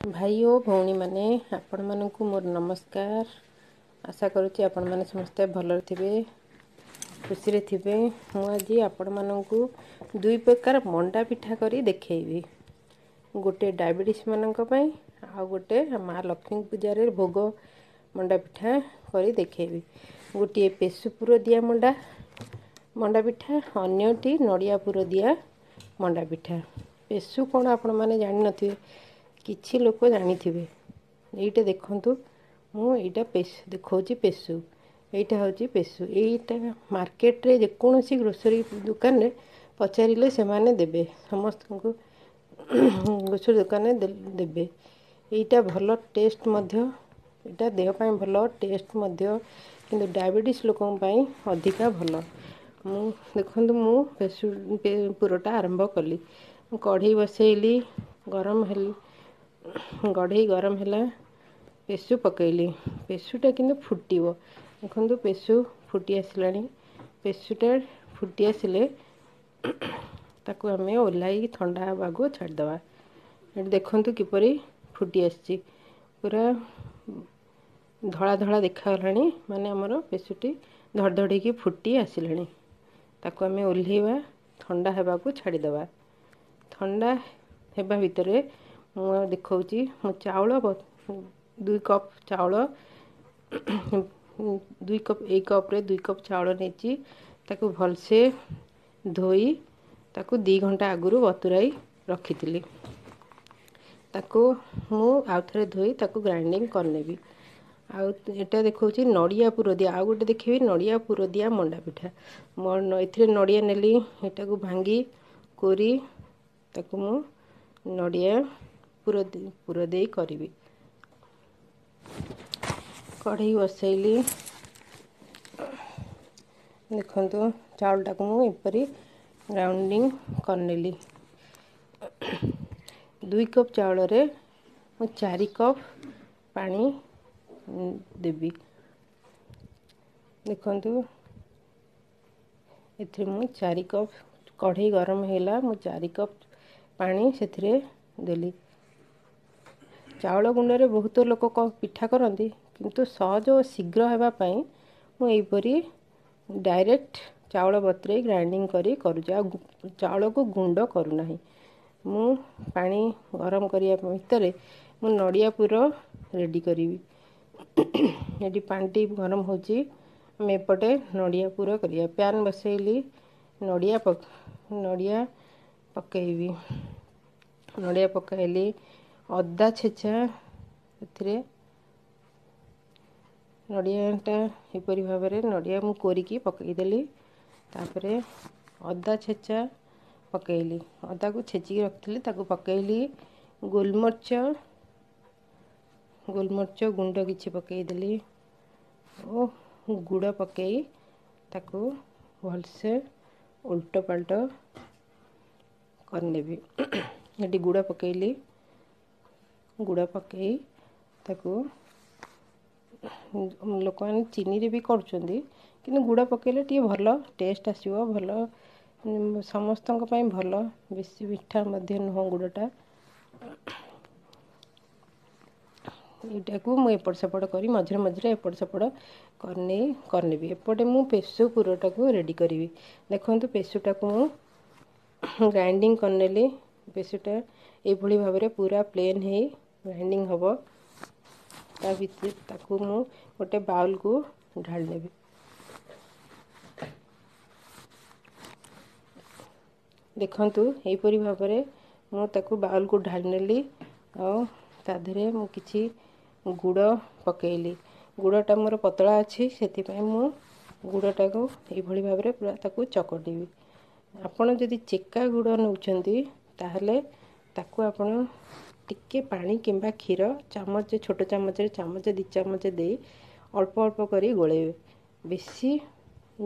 ଭାଇ ଓ ଭଉଣୀମାନେ, ଆପଣମାନଙ୍କୁ ମୋର ନମସ୍କାର। ଆଶା କରୁଛି ଆପଣମାନେ ସମସ୍ତେ ଭଲରେ ଥିବେ, ଖୁସିରେ ଥିବେ। ମୁଁ ଆଜି ଆପଣମାନଙ୍କୁ ଦୁଇ ପ୍ରକାର ମଣ୍ଡା ପିଠା କରି ଦେଖେଇବି। ଗୋଟେ ଡାଇବେଟିସ୍ ମାନଙ୍କ ପାଇଁ, ଆଉ ଗୋଟେ ମା ଲକ୍ଷ୍ମୀ ପୂଜାରେ ଭୋଗ ମଣ୍ଡା ପିଠା କରି ଦେଖେଇବି। ଗୋଟିଏ ପେଶୁ ପୁର ଦିଆ ମଣ୍ଡା ପିଠା, ଅନ୍ୟଟି ନଡ଼ିଆ ପୁର ଦିଆ ମଣ୍ଡା ପିଠା। ପେଶୁ କ'ଣ ଆପଣମାନେ ଜାଣିନଥିବେ, କିଛି ଲୋକ ଜାଣିଥିବେ। ଏଇଟା ଦେଖନ୍ତୁ, ମୁଁ ଏଇଟା ପେଶୁ ଦେଖାଉଛି। ପେଶୁ ଏଇଟା ହେଉଛି ପେଶୁ। ଏଇଟା ମାର୍କେଟରେ ଯେକୌଣସି ଗ୍ରୋସରୀ ଦୋକାନରେ ପଚାରିଲେ ସେମାନେ ଦେବେ, ସମସ୍ତଙ୍କୁ ଗ୍ରୋସରୀ ଦୋକାନରେ ଦେବେ। ଏଇଟା ଭଲ ଟେଷ୍ଟ ମଧ୍ୟ, ଏଇଟା ଦେହ ପାଇଁ ଭଲ ଟେଷ୍ଟ ମଧ୍ୟ, କିନ୍ତୁ ଡାଇବେଟିସ୍ ଲୋକଙ୍କ ପାଇଁ ଅଧିକା ଭଲ। ମୁଁ ଦେଖନ୍ତୁ, ମୁଁ ପେଶୁ ପୁରଟା ଆରମ୍ଭ କଲି। ମୁଁ କଢ଼େଇ ବସେଇଲି, ଗରମ ହେଲି, କଢ଼େଇ ଗରମ ହେଲା, ପେଶୁ ପକେଇଲି। ପେଶୁଟା କିନ୍ତୁ ଫୁଟିବ। ଦେଖନ୍ତୁ, ପେଶୁ ଫୁଟି ଆସିଲାଣି। ପେଶୁଟା ଫୁଟି ଆସିଲେ ତାକୁ ଆମେ ଓହ୍ଲାଇକି ଥଣ୍ଡା ହେବାକୁ ଛାଡ଼ିଦେବା। ଏଠି ଦେଖନ୍ତୁ କିପରି ଫୁଟି ଆସିଛି, ପୁରା ଧଳା ଧଳା ଦେଖାଗଲାଣି, ମାନେ ଆମର ପେଶୁଟି ଧଡ଼ ଧଡ଼ିକି ଫୁଟି ଆସିଲାଣି। ତାକୁ ଆମେ ଓହ୍ଲେଇବା, ଥଣ୍ଡା ହେବାକୁ ଛାଡ଼ିଦେବା। ଥଣ୍ଡା ହେବା ଭିତରେ ମୁଁ ଦେଖାଉଛି, ମୁଁ ଚାଉଳ 2 କପ୍ ଚାଉଳ, 2 କପ୍, ଏଇ କପ୍ରେ 2 କପ୍ ଚାଉଳ ନେଇଛି। ତାକୁ ଭଲସେ ଧୋଇ ତାକୁ 2 ଘଣ୍ଟା ଆଗରୁ ବତୁରାଇ ରଖିଥିଲି। ତାକୁ ମୁଁ ଆଉଥରେ ଧୋଇ ତାକୁ ଗ୍ରାଇଣ୍ଡିଙ୍ଗ କରିନେବି। ଆଉ ଏଇଟା ଦେଖାଉଛି ନଡ଼ିଆ ପୁର ଦିଆ, ଆଉ ଗୋଟେ ଦେଖିବି ନଡ଼ିଆ ପୁର ଦିଆ ମଣ୍ଡା ପିଠା। ଏଥିରେ ନଡ଼ିଆ ନେଲି, ଏଟାକୁ ଭାଙ୍ଗି କୋରି ତାକୁ ମୁଁ ନଡ଼ିଆ ପୁର ଦେଇ କରିବି। କଢ଼େଇ ବସେଇଲି। ଦେଖନ୍ତୁ, ଚାଉଳଟାକୁ ମୁଁ ଏପରି ଗ୍ରାଉଣ୍ଡିଙ୍ଗ କରିନେଲି। 2 କପ୍ ଚାଉଳରେ ମୁଁ 4 କପ୍ ପାଣି ଦେବି। ଦେଖନ୍ତୁ, ଏଥିରେ ମୁଁ 4 କପ୍, କଢ଼େଇ ଗରମ ହେଲା, ମୁଁ 4 କପ୍ ପାଣି ସେଥିରେ ଦେଲି। ଚାଉଳ ଗୁଣ୍ଡରେ ବହୁତ ଲୋକ ପିଠା କରନ୍ତି, କିନ୍ତୁ ସହଜ ଓ ଶୀଘ୍ର ହେବା ପାଇଁ ମୁଁ ଏହିପରି ଡାଇରେକ୍ଟ ଚାଉଳ ବତୁରେଇ ଗ୍ରାଇଣ୍ଡିଙ୍ଗ କରି କରୁଛି, ଆଉ ଚାଉଳକୁ ଗୁଣ୍ଡ କରୁନାହିଁ। ମୁଁ ପାଣି ଗରମ କରିବା ଭିତରେ ମୁଁ ନଡ଼ିଆ ପୁର ରେଡ଼ି କରିବି। ଏଠି ପାଣିଟି ଗରମ ହେଉଛି, ଆମେ ଏପଟେ ନଡ଼ିଆ ପୁର କରିବା। ପ୍ୟାନ୍ ବସେଇଲି, ନଡ଼ିଆ ପକାଇବି। ନଡ଼ିଆ ପକାଇଲି, ଅଦା ଛେଚା ଏଥିରେ। ନଡ଼ିଆଟା ଏପରି ଭାବରେ ନଡ଼ିଆ ମୁଁ କୋରିକି ପକାଇଦେଲି। ତାପରେ ଅଦା ଛେଚା ପକାଇଲି, ଅଦାକୁ ଛେଚିକି ରଖିଥିଲି, ତାକୁ ପକାଇଲି। ଗୋଲମରିଚ ଗୁଣ୍ଡ କିଛି ପକାଇଦେଲି ଓ ଗୁଡ଼ ପକାଇ ତାକୁ ଭଲସେ ଓଲଟ ପାଲଟ କରିନେବି। ଏଠି ଗୁଡ଼ ପକାଇଲି। ଗୁଡ଼ ପକାଇ ତାକୁ ଲୋକମାନେ ଚିନିରେ ବି କରୁଛନ୍ତି, କିନ୍ତୁ ଗୁଡ଼ ପକାଇଲେ ଟିକେ ଭଲ ଟେଷ୍ଟ ଆସିବ, ଭଲ ସମସ୍ତଙ୍କ ପାଇଁ ଭଲ, ବେଶୀ ମିଠା ମଧ୍ୟ ନୁହଁ ଗୁଡ଼ଟା। ଏଇଟାକୁ ମୁଁ ଏପଟ ସେପଟ କରି ମଝିରେ ମଝିରେ ଏପଟ ସେପଟ କରିନେଇ କରିନେବି। ଏପଟେ ମୁଁ ପେଶୁ ପୁରଟାକୁ ରେଡ଼ି କରିବି। ଦେଖନ୍ତୁ, ପେଶୁଟାକୁ ମୁଁ ଗ୍ରାଇଣ୍ଡିଙ୍ଗ କରିନେଲି। ପେଶୁଟା ଏଇଭଳି ଭାବରେ ପୁରା ପ୍ଲେନ୍ ହେଇ ଗ୍ରାଇଣ୍ଡିଙ୍ଗ ହେବ। ତା ଭିତରେ ତାକୁ ମୁଁ ଗୋଟେ ବାଉଲକୁ ଢାଳି ନେବି। ଦେଖନ୍ତୁ, ଏହିପରି ଭାବରେ ମୁଁ ତାକୁ ବାଉଲକୁ ଢାଳି ନେଲି ଆଉ ତା ଦେହରେ ମୁଁ କିଛି ଗୁଡ଼ ପକାଇଲି। ଗୁଡ଼ଟା ମୋର ପତଳା ଅଛି, ସେଥିପାଇଁ ମୁଁ ଗୁଡ଼ଟାକୁ ଏଇଭଳି ଭାବରେ ପୁରା ତାକୁ ଚକଟିବି। ଆପଣ ଯଦି ଚେକା ଗୁଡ଼ ନେଉଛନ୍ତି, ତାହେଲେ ତାକୁ ଆପଣ ଟିକେ ପାଣି କିମ୍ବା କ୍ଷୀର ଚାମଚ, ଛୋଟ ଚାମଚରେ ଚାମଚ 2 ଚାମଚ ଦେଇ ଅଳ୍ପ ଅଳ୍ପ କରି ଗୋଳେଇବେ, ବେଶୀ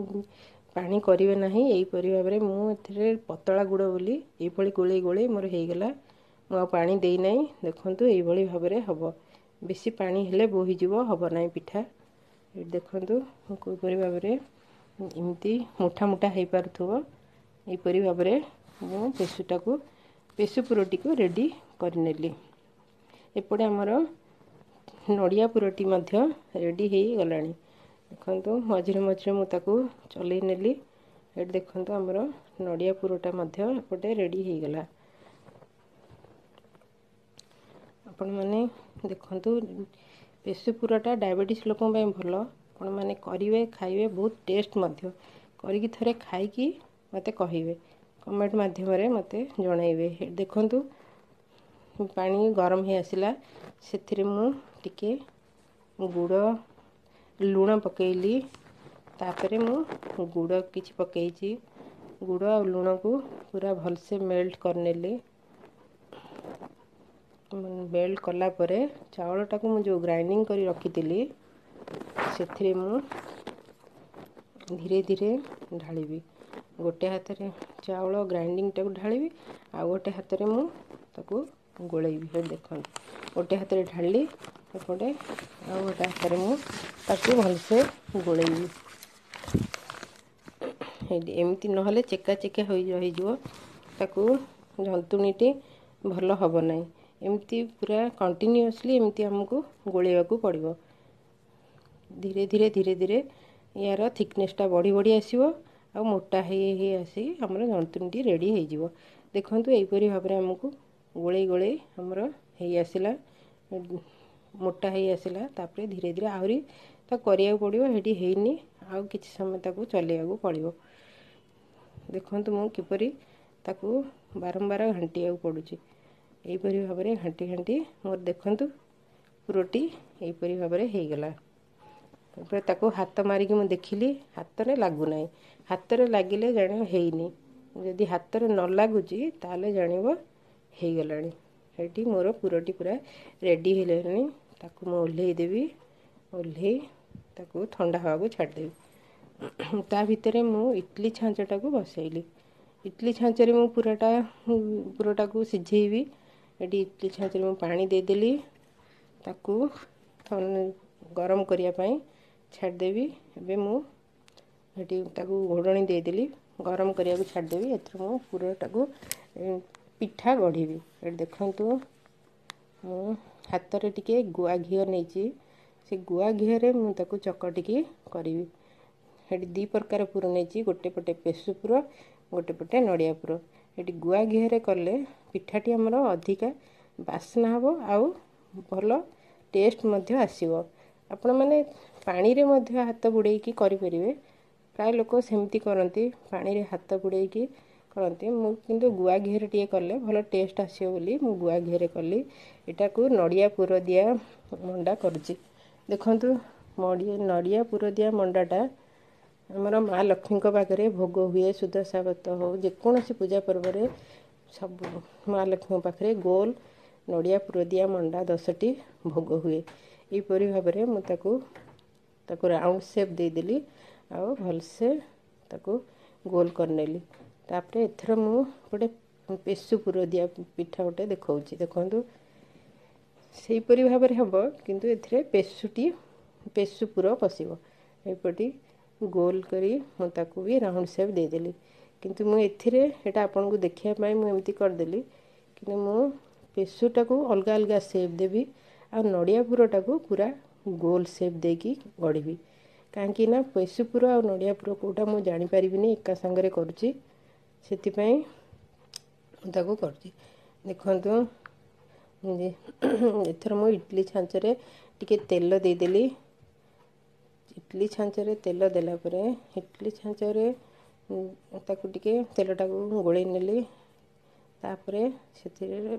ପାଣି କରିବେ ନାହିଁ। ଏହିପରି ଭାବରେ ମୁଁ ଏଥିରେ ପତଳା ଗୁଡ଼ ବୋଲି ଏଇଭଳି ଗୋଳେଇ ଗୋଳେଇ ମୋର ହେଇଗଲା, ମୁଁ ଆଉ ପାଣି ଦେଇନାହିଁ। ଦେଖନ୍ତୁ, ଏଇଭଳି ଭାବରେ ହେବ। ବେଶୀ ପାଣି ହେଲେ ବୋହିଯିବ, ହେବ ନାହିଁ ପିଠା। ଏଠି ଦେଖନ୍ତୁ, ମୁଁ କିପରି ଭାବରେ ଏମିତି ମୁଠା ମୁଠା ହେଇପାରୁଥିବ, ଏହିପରି ଭାବରେ ମୁଁ ପେଶୁଟାକୁ, ପେଶୁ ପୁରଟିକୁ ରେଡ଼ି କରିନେଲି। ଏପଟେ ଆମର ନଡ଼ିଆ ପୁରଟି ମଧ୍ୟ ରେଡ଼ି ହେଇଗଲାଣି। ଦେଖନ୍ତୁ, ମଝିରେ ମଝିରେ ମୁଁ ତାକୁ ଚଲେଇ ନେଲି। ଏଠି ଦେଖନ୍ତୁ, ଆମର ନଡ଼ିଆ ପୁରଟା ମଧ୍ୟ ଏପଟେ ରେଡ଼ି ହେଇଗଲା। ଆପଣମାନେ ଦେଖନ୍ତୁ, ପେଶୁ ପୁରଟା ଡାଇବେଟିସ୍ ଲୋକଙ୍କ ପାଇଁ ଭଲ। ଆପଣମାନେ କରିବେ, ଖାଇବେ, ବହୁତ ଟେଷ୍ଟ ମଧ୍ୟ। କରିକି ଥରେ ଖାଇକି ମୋତେ କହିବେ, କମେଣ୍ଟ ମାଧ୍ୟମରେ ମୋତେ ଜଣାଇବେ। ଦେଖନ୍ତୁ, ପାଣି ଗରମ ହେଇ ଆସିଲା। ସେଥିରେ ମୁଁ ଟିକେ ଗୁଡ଼, ଲୁଣ ପକାଇଲି। ତାପରେ ମୁଁ ଗୁଡ଼ କିଛି ପକାଇଛି। ଗୁଡ଼ ଆଉ ଲୁଣକୁ ପୁରା ଭଲସେ ମେଲ୍ଟ କରିନେଲି। ମେଲ୍ଟ କଲା ପରେ ଚାଉଳଟାକୁ ମୁଁ ଯେଉଁ ଗ୍ରାଇଣ୍ଡିଙ୍ଗ କରି ରଖିଥିଲି, ସେଥିରେ ମୁଁ ଧୀରେ ଧୀରେ ଢାଳିବି। ଗୋଟେ ହାତରେ ଚାଉଳ ଗ୍ରାଇଣ୍ଡିଙ୍ଗଟାକୁ ଢାଳିବି, ଆଉ ଗୋଟେ ହାତରେ ମୁଁ ତାକୁ ଗୋଳେଇବି। ସେଠି ଦେଖନ୍ତୁ, ଗୋଟେ ହାତରେ ଢାଳିଲି ଏପଟେ, ଆଉ ଗୋଟେ ହାତରେ ମୁଁ ତାକୁ ଭଲସେ ଗୋଳେଇବି। ଏମିତି ନହେଲେ ଚେକା ଚେକା ହୋଇ ରହିଯିବ, ତାକୁ ଜନ୍ତୁଣୀଟି ଭଲ ହେବ ନାହିଁ। ଏମିତି ପୁରା କଣ୍ଟିନ୍ୟୁଅସଲି ଏମିତି ଆମକୁ ଗୋଳେଇବାକୁ ପଡ଼ିବ। ଧୀରେ ଧୀରେ ଧୀରେ ଧୀରେ ୟାର ଥିକନେସ୍ଟା ବଢ଼ି ବଢ଼ି ଆସିବ ଆଉ ମୋଟା ହେଇ ହେଇ ଆସିକି ଆମର ଜନ୍ତୁଣୀଟି ରେଡ଼ି ହେଇଯିବ। ଦେଖନ୍ତୁ, ଏହିପରି ଭାବରେ ଆମକୁ ଗୋଳେଇ ଗୋଳେଇ ଆମର ହେଇ ଆସିଲା, ମୋଟା ହେଇ ଆସିଲା। ତାପରେ ଧୀରେ ଧୀରେ ଆହୁରି ତାକୁ କରିବାକୁ ପଡ଼ିବ। ସେଠି ହେଇନି, ଆଉ କିଛି ସମୟ ତାକୁ ଚଲେଇବାକୁ ପଡ଼ିବ। ଦେଖନ୍ତୁ, ମୁଁ କିପରି ତାକୁ ବାରମ୍ବାର ଘାଣ୍ଟିବାକୁ ପଡ଼ୁଛି। ଏହିପରି ଭାବରେ ଘାଣ୍ଟି ଘାଣ୍ଟି ମୋର ଦେଖନ୍ତୁ ପୁରଟି ଏହିପରି ଭାବରେ ହେଇଗଲା। ତାପରେ ତାକୁ ହାତ ମାରିକି ମୁଁ ଦେଖିଲି, ହାତରେ ଲାଗୁନାହିଁ। ହାତରେ ଲାଗିଲେ ଜାଣିବ ହେଇନି। ଯଦି ହାତରେ ନ ଲାଗୁଛି, ତାହେଲେ ଜାଣିବ ହେଇଗଲାଣି। ଏଠି ମୋର ପୁରଟି ପୁରା ରେଡ଼ି ହେଇଗଲାଣି। ତାକୁ ମୁଁ ଓହ୍ଲେଇ ଦେବି। ଓହ୍ଲେଇ ତାକୁ ଥଣ୍ଡା ହେବାକୁ ଛାଡ଼ିଦେବି। ତା ଭିତରେ ମୁଁ ଇଟଲି ଛାଞ୍ଚଟାକୁ ବସେଇଲି। ଇଟଲି ଛାଞ୍ଚରେ ମୁଁ ପୁରଟାକୁ ସିଝେଇବି। ଏଠି ଇଟଲି ଛାଞ୍ଚରେ ମୁଁ ପାଣି ଦେଇଦେଲି, ତାକୁ ଗରମ କରିବା ପାଇଁ ଛାଡ଼ିଦେବି। ଏବେ ମୁଁ ଏଠି ତାକୁ ଘୋଡ଼ଣୀ ଦେଇଦେଲି, ଗରମ କରିବାକୁ ଛାଡ଼ିଦେବି। ଏଥିରେ ମୁଁ ପୁରଟାକୁ ପିଠା ଗଢ଼ିବି। ଏଠି ଦେଖନ୍ତୁ, ମୁଁ ହାତରେ ଟିକେ ଗୁଆ ଘିଅ ନେଇଛି। ସେ ଗୁଆ ଘିଅରେ ମୁଁ ତାକୁ ଚକଟିକି କରିବି। ସେଠି ଦୁଇ ପ୍ରକାର ପୁର ନେଇଛି, ଗୋଟେ ପଟେ ପେଶୁ ପୁର, ଗୋଟେ ପଟେ ନଡ଼ିଆ ପୁର। ଏଠି ଗୁଆ ଘିଅରେ କଲେ ପିଠାଟି ଆମର ଅଧିକା ବାସ୍ନା ହେବ ଆଉ ଭଲ ଟେଷ୍ଟ ମଧ୍ୟ ଆସିବ। ଆପଣମାନେ ପାଣିରେ ମଧ୍ୟ ହାତ ବୁଡ଼େଇକି କରିପାରିବେ। ପ୍ରାୟ ଲୋକ ସେମିତି କରନ୍ତି, ପାଣିରେ ହାତ ବୁଡ଼େଇକି କରନ୍ତି। ମୁଁ କିନ୍ତୁ ଗୁଆ ଘିଅରେ ଟିକେ କଲେ ଭଲ ଟେଷ୍ଟ ଆସିବ ବୋଲି ମୁଁ ଗୁଆ ଘିଅରେ କଲି। ଏଟାକୁ ନଡ଼ିଆ ପୁର ଦିଆ ମଣ୍ଡା କରୁଛି। ଦେଖନ୍ତୁ, ନଡ଼ିଆ ପୁର ଦିଆ ମଣ୍ଡାଟା ଆମର ମା ଲକ୍ଷ୍ମୀଙ୍କ ପାଖରେ ଭୋଗ ହୁଏ। ସୁଦଶା ବ୍ରତ ହେଉ, ଯେକୌଣସି ପୂଜା ପର୍ବରେ ସବୁ ମା ଲକ୍ଷ୍ମୀଙ୍କ ପାଖରେ ଗୋଲ ନଡ଼ିଆ ପୁର ଦିଆ ମଣ୍ଡା 10ଟି ଭୋଗ ହୁଏ। ଏହିପରି ଭାବରେ ମୁଁ ତାକୁ ରାଉଣ୍ଡ ସେପ୍ ଦେଇଦେଲି ଆଉ ଭଲସେ ତାକୁ ଗୋଲ କରିନେଲି। ତାପରେ ଏଥର ମୁଁ ଗୋଟେ ପେଶୁ ପୁର ଦିଆ ପିଠା ଗୋଟେ ଦେଖାଉଛି। ଦେଖନ୍ତୁ, ସେହିପରି ଭାବରେ ହେବ, କିନ୍ତୁ ଏଥିରେ ପେଶୁ ପୁର ପଶିବ। ଏହିପରି ଗୋଲ କରି ମୁଁ ତାକୁ ବି ରାଉଣ୍ଡ ସେପ୍ ଦେଇଦେଲି। କିନ୍ତୁ ମୁଁ ଏଥିରେ ଏଇଟା ଆପଣଙ୍କୁ ଦେଖିବା ପାଇଁ ମୁଁ ଏମିତି କରିଦେଲି, କିନ୍ତୁ ମୁଁ ପେଶୁଟାକୁ ଅଲଗା ଅଲଗା ସେପ୍ ଦେବି ଆଉ ନଡ଼ିଆ ପୁରଟାକୁ ପୁରା ଗୋଲ ସେପ୍ ଦେଇକି ଗଢ଼ିବି। କାହିଁକି ନା ପେଶୁ ପୁର ଆଉ ନଡ଼ିଆ ପୁର କେଉଁଟା ମୁଁ ଜାଣିପାରିବିନି, ଏକା ସାଙ୍ଗରେ କରୁଛି, ସେଥିପାଇଁ ମୁଁ ତାକୁ କରୁଛି। ଦେଖନ୍ତୁ, ଏଥର ମୁଁ ଇଟଲି ଛାଞ୍ଚରେ ଟିକେ ତେଲ ଦେଇଦେଲି। ଇଟଲି ଛାଞ୍ଚରେ ତେଲ ଦେଲା ପରେ ଇଟଲି ଛାଞ୍ଚରେ ତାକୁ ଟିକେ ତେଲଟାକୁ ଗୋଳେଇ ନେଲି। ତାପରେ ସେଥିରେ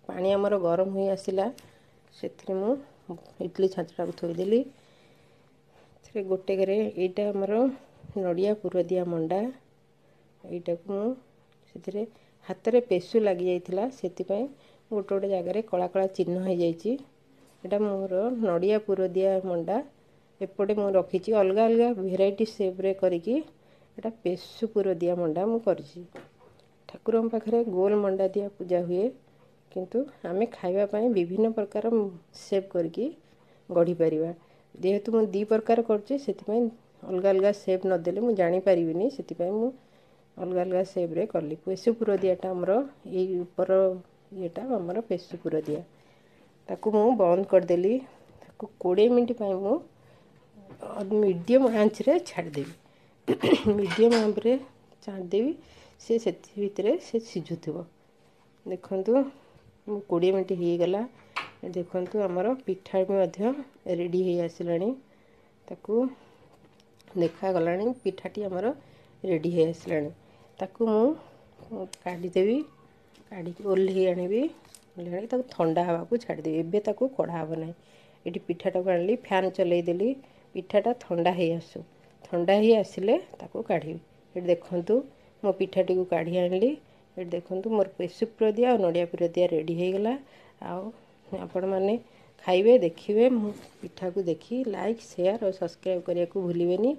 ପାଣି ଆମର ଗରମ ହୋଇ ଆସିଲା, ସେଥିରେ ମୁଁ ଇଟଲି ଛାଞ୍ଚଟାକୁ ଥୋଇଦେଲି। ଏଥିରେ ଗୋଟେକରେ ଏଇଟା ଆମର ନଡ଼ିଆ ପୁର ଦିଆ ମଣ୍ଡା। ଏଇଟାକୁ ମୁଁ ସେଥିରେ ହାତରେ ପେଶୁ ଲାଗିଯାଇଥିଲା, ସେଥିପାଇଁ ଗୋଟେ ଗୋଟେ ଜାଗାରେ କଳା କଳା ଚିହ୍ନ ହେଇଯାଇଛି। ଏଇଟା ମୋର ନଡ଼ିଆ ପୁର ଦିଆ ମଣ୍ଡା। ଏପଟେ ମୁଁ ରଖିଛି ଅଲଗା ଅଲଗା ଭେରାଇଟି ସେପ୍ରେ କରିକି। ଏଇଟା ପେଶୁ ପୁର ଦିଆ ମଣ୍ଡା ମୁଁ କରିଛି। ଠାକୁରଙ୍କ ପାଖରେ ଗୋଲ ମଣ୍ଡା ଦିଆ ପୂଜା ହୁଏ, କିନ୍ତୁ ଆମେ ଖାଇବା ପାଇଁ ବିଭିନ୍ନ ପ୍ରକାର ସେପ୍ କରିକି ଗଢ଼ିପାରିବା। ଯେହେତୁ ମୁଁ ଦୁଇ ପ୍ରକାର କରୁଛି, ସେଥିପାଇଁ ଅଲଗା ଅଲଗା ସେପ୍ ନଦେଲେ ମୁଁ ଜାଣିପାରିବିନି, ସେଥିପାଇଁ ମୁଁ ଅଲଗା ଅଲଗା ସେପ୍ରେ କଲି। ପେଶୁ ପୁର ଦିଆଟା ଆମର ଏଇ ଉପର ଇଏଟା ଆମର ପେଶୁ ପୁର ଦିଆ। ତାକୁ ମୁଁ ବନ୍ଦ କରିଦେଲି। ତାକୁ 20 ମିନିଟ୍ ପାଇଁ ମୁଁ ମିଡ଼ିୟମ୍ ଆଞ୍ଚରେ ଛାଡ଼ିଦେବି। ମିଡ଼ିୟମ୍ ଆଞ୍ଚରେ ଛାଡ଼ିଦେବି, ସେ ସେଥି ଭିତରେ ସେ ସିଝୁଥିବ। ଦେଖନ୍ତୁ, ମୁଁ 20 ମିନିଟ୍ ହେଇଗଲା। ଦେଖନ୍ତୁ, ଆମର ପିଠା ବି ମଧ୍ୟ ରେଡ଼ି ହେଇ ଆସିଲାଣି। ତାକୁ ଦେଖାଗଲାଣି, ପିଠାଟି ଆମର ରେଡ଼ି ହେଇ ଆସିଲାଣି। ତାକୁ ମୁଁ କାଢ଼ିଦେବି, କାଢ଼ିକି ଓହ୍ଲେଇ ଆଣିବି। ଓହ୍ଲେଇ ଆଣିକି ତାକୁ ଥଣ୍ଡା ହେବାକୁ ଛାଡ଼ିଦେବି। ଏବେ ତାକୁ କଢ଼ା ହେବ ନାହିଁ। ଏଠି ପିଠାଟାକୁ ଆଣିଲି, ଫ୍ୟାନ୍ ଚଲେଇଦେଲି, ପିଠାଟା ଥଣ୍ଡା ହେଇ ଆସୁ। ଥଣ୍ଡା ହେଇ ଆସିଲେ ତାକୁ କାଢ଼ିବି। ଏଠି ଦେଖନ୍ତୁ, ମୋ ପିଠାଟିକୁ କାଢ଼ି ଆଣିଲି। ଏଠି ଦେଖନ୍ତୁ, ମୋର ପେସୁ ପୁର ଦିଆ ଆଉ ନଡ଼ିଆ ପୁର ଦିଆ ରେଡ଼ି ହେଇଗଲା। ଆଉ ଆପଣମାନେ ଖାଇବେ, ଦେଖିବେ। ମୁଁ ପିଠାକୁ ଦେଖି ଲାଇକ୍, ସେୟାର ଆଉ ସବସ୍କ୍ରାଇବ୍ କରିବାକୁ ଭୁଲିବେନି।